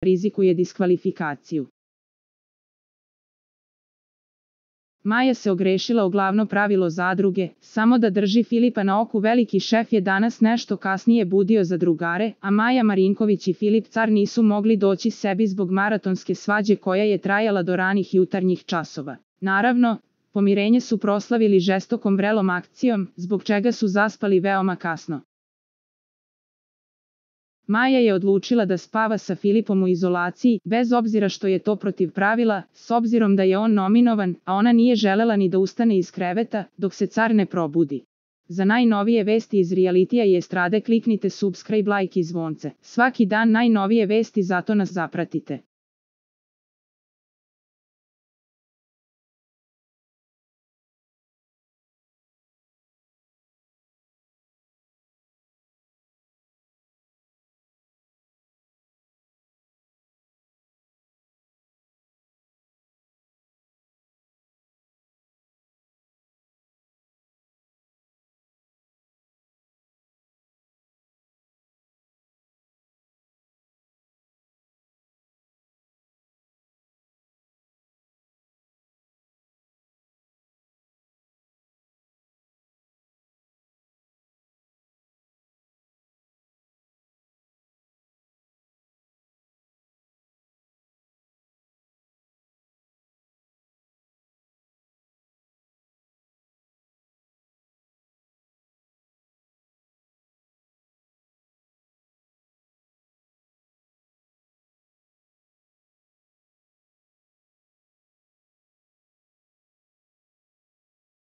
rizikuje diskvalifikaciju. Maja se ogrešila o glavno pravilo zadruge, samo da drži Filipa na oku. Veliki šef je danas nešto kasnije budio za drugare, a Maja Marinković i Filip Car nisu mogli doći sebi zbog maratonske svađe koja je trajala do ranih jutarnjih časova. Naravno, pomirenje su proslavili žestokom vrelom akcijom, zbog čega su zaspali veoma kasno. Maja je odlučila da spava sa Filipom u izolaciji, bez obzira što je to protiv pravila, s obzirom da je on nominovan, a ona nije želela ni da ustane iz kreveta, dok se Car ne probudi. Za najnovije vesti iz realitija i estrade kliknite subscribe, like i zvonce. Svaki dan najnovije vesti, zato nas zapratite.